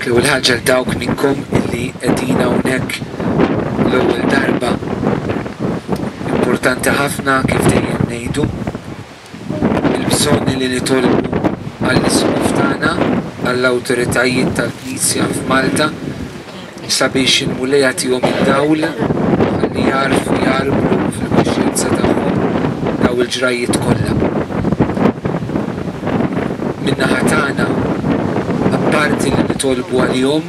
Hekk l-ewwel ħaġa għal dawk minnkom illi qegħdin hawnhekk l-ewwel darba. Importanti ħafna kif dejjem ngħidu il-bżonn li nitolbu għall-isqof tagħna, għall-awtoritajiet tal-Knisja f'Malta sabiex il-Mulej jagħtihom id-dawl ħalli jagħrfu jgħarblu fil-kuxjenza tagħhom daw il-ġrajjiet kollha. Min-naħa tagħna, apparti li nitolbu għalihom,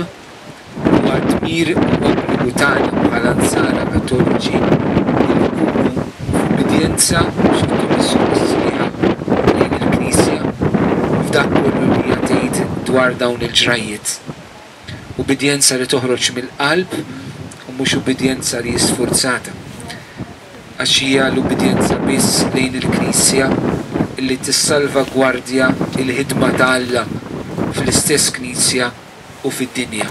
huwa dmir u obbligu tagħna bħala Nsara Kattoliċi li nkunu f'ubbidjenza u sottomissjoni sħiħa lejn il-Knisja f'dak kollu li hija tgħid dwar dawn il-ġrajjiet. Ubbidjenza li toħroġ mill-qalb u mhux ubbidjenza li hi sfurzata. Għax hija l-ubbidjenza biss lejn il-Knisja li tissalvagwardja l-ħidma ta' Alla fl-istess Knisja u fid-dinja.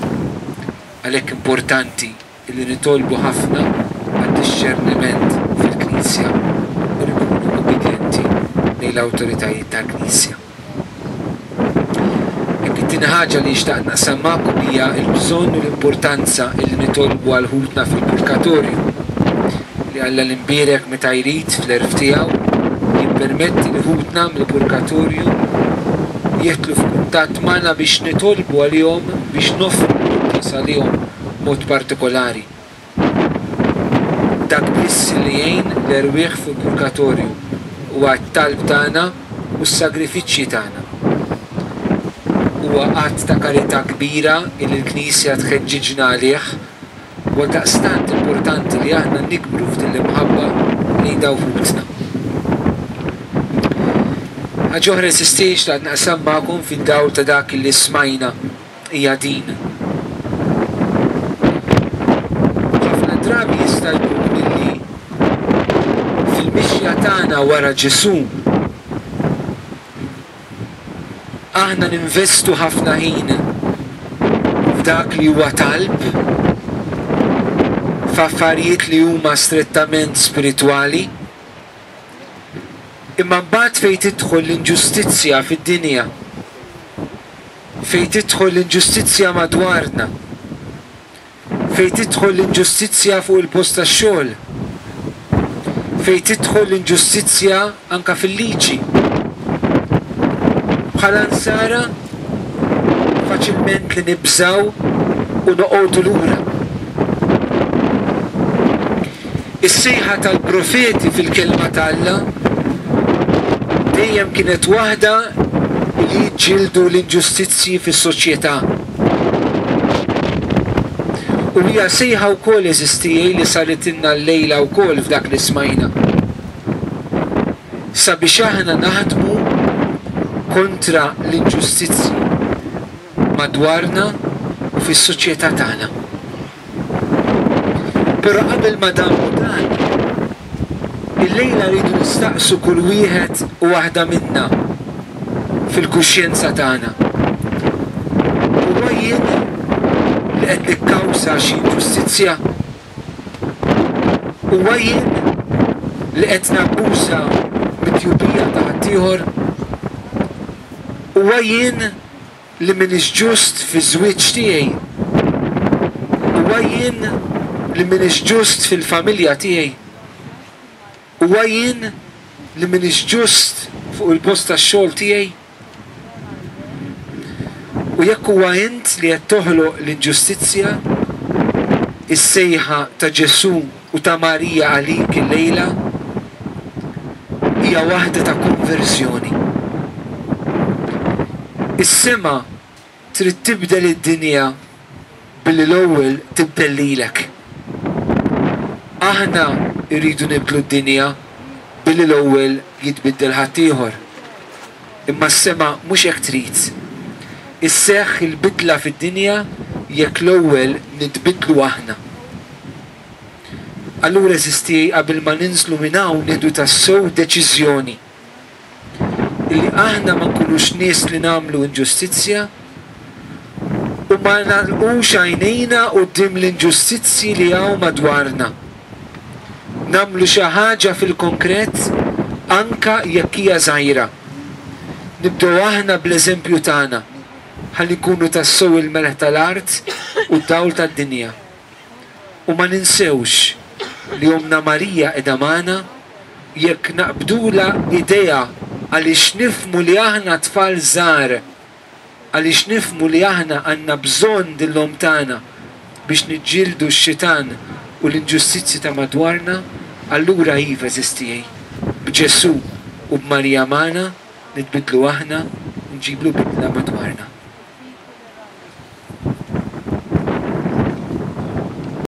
Għalhekk importanti li nitolbu ħafna għad-dixxerniment fil-Knisja u nkunu ubbidjenti lejn l-awtoritajiet tal-Knisja. Hekk it-tieni ħaġa li xtaqt naqsam magħkom hija l-bżonn u l-importanza li nitolbu għal ħutna fil-purgatorju, li Alla l-Imbierek meta jrid fl-għerf tiegħu jippermetti li ħutna mill-purgatorju jidħlu f'kuntatt magħna biex nitolbu għalihom, biex noffru l-quddies għalihom b'mod partikolari. Dak biss li jgħin l-erwieħ fil-purgatorju huwa t-talb tagħna u s-sagrifiċċji tagħna. Huwa att ta' karità kbira li l-Knisja tħeġġiġna għalih u għaldaqstant importanti li aħna nikbru f'din l-imħabba lejn dawk ħutna. Ħaġa oħra eżisti xtaqt naqsam magħkom fid-dawl ta' dak li smajna hija din. Ħafna drabi jista' jkun illi fil-mixja tagħna wara Ġesù aħna ninvestu ħafna ħin f'dak li huwa talb, f'affarijiet li huma strettament spiritwali, imma mbagħad fejn tidħol l-inġustizzja fid-dinja, fejn tidħol l-inġustizzja madwarna, fejn tidħol l-inġustizzja fuq il-post tax-xogħol, fejn tidħol l-inġustizzja anke fil-liġi. Bħala Nsara faċilment li nibżgħu u noqogħdu lura. Is-sejħa tal-profeti fil-Kelma ta' Alla dejjem kienet waħda li jiġġieldu l-inġustizzji fis-soċjetà. U hija sejħa wkoll, għeżież tiegħi, li saritilna llejla wkoll f'dak li smajna. Sabiex aħna naħdmu kontra l-inġustizzji madwarna u fis-soċjetà tagħna. Però qabel ma nagħmlu dan, illejla rridu nistaqsu kull wieħed u waħda minna fil-kuxjenza tagħna, Huwa jien li qed nikkawża xi inġustizzja? Huwa jien li qed nabbuża mit-tjubija ta' ħaddieħor? Huwa jien li m'iniex ġust fiż-żwieġ tiegħi? Huwa jien li m'iniex ġust fil-familja tiegħi? Huwa jien li m'iniex ġust fuq il-post tax-xogħol tiegħi? U jekk huwa int li qed toħloq l-inġustizzja, is-sejħa ta' Ġesù u ta' Marija għalik illejla hija waħda ta' konverżjoni. Is-sema trid tibdel id-dinja billi l-ewwel tibdel lilek. Aħna rridu nibdlu d-dinja billi l-ewwel jitbiddel ħaddieħor. Imma s-sema mhux hekk trid. Isseħħ il-bidla fid-dinja jekk l-ewwel nitbiddlu aħna. Allura għeżież tiegħi qabel ma ninżlu minn hawn nieħdu tassew deċiżjoni illi aħna ma nkunux nies li nagħmlu inġustizzja u ma nagħlqux għajnejna quddiem l-inġustizzji li hawn madwarna. Nagħmlu xi ħaġa fil-konkret anke jekk hija żgħira. Nibdew aħna bl-eżempju tagħna. Ħalli nkunu tassew il-melħ tal-art u d-dawl tad-dinja. U ma ninsewx li Ommna Marija qiegħda magħna jekk naqbdulha idejha għaliex nifhmu li aħna tfal żgħar, għaliex nifhmu li aħna għandna bżonn din l-Omm tagħna biex niġġieldu x-xitan u l-inġustizzji ta' madwarna, allura iva għeżież tiegħi, b'Ġesù u b'Marija magħna nitbiddlu aħna u nġiblu bidla madwarna.